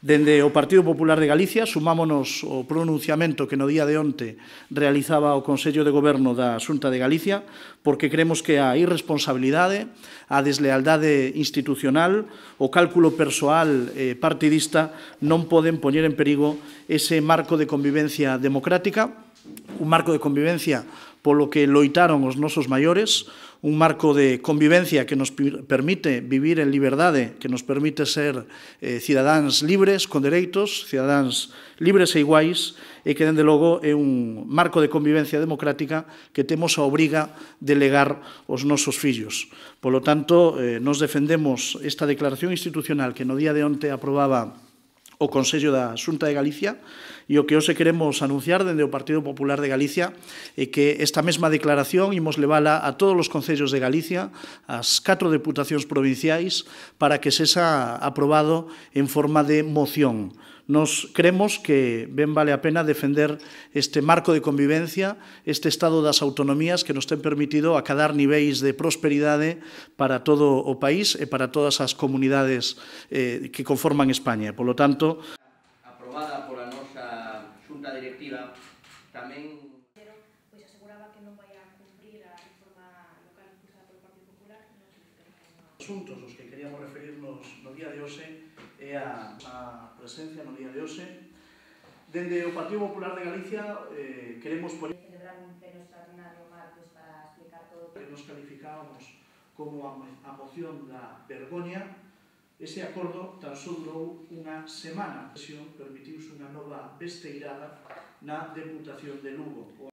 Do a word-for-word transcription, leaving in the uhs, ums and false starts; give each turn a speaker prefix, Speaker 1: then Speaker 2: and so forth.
Speaker 1: Dende o Partido Popular de Galicia sumámonos ao pronunciamento que no día de onte realizaba o Consello de Goberno da Xunta de Galicia, porque creemos que a irresponsabilidade, a deslealdade institucional, o cálculo persoal e partidista non poden poñer en perigo ese marco de convivencia democrática, un marco de convivencia polo que loitaron os nosos maiores, un marco de convivencia que nos permite vivir en liberdade, que nos permite ser eh, cidadáns libres, con dereitos, cidadáns libres e iguais, e que, dende logo, é un marco de convivencia democrática que temos a obriga de legar aos nosos fillos. Polo tanto, eh, nos defendemos esta declaración institucional que no día de onte aprobaba o Consello da Xunta de Galicia, e o que hoxe queremos anunciar dende o Partido Popular de Galicia é que esta mesma declaración imos levala a todos os concellos de Galicia, ás catro deputacións provinciais, para que sexa aprobado en forma de moción. Nos creemos que ben vale a pena defender este marco de convivencia, este estado das autonomías que nos ten permitido acadar niveis de prosperidade para todo o país e para todas as comunidades eh, que conforman España. Por lo tanto,
Speaker 2: aprobada pola nosa xunta directiva, tamén
Speaker 3: pois aseguraba que non vai a cumprir a reforma local impulsada polo Partido Popular.
Speaker 1: Os asuntos aos que queríamos referirnos no día de hoxe é a, a presencia no día de hoxe. Dende o Partido Popular de Galicia eh, queremos poñer
Speaker 3: celebrar un pleno extraordinario martes para explicar todo
Speaker 1: que nos calificábamos como a, a moción da vergoña. Ese acordo tan só durou unha semana. Permitiuse unha nova besteirada na Deputación de Lugo.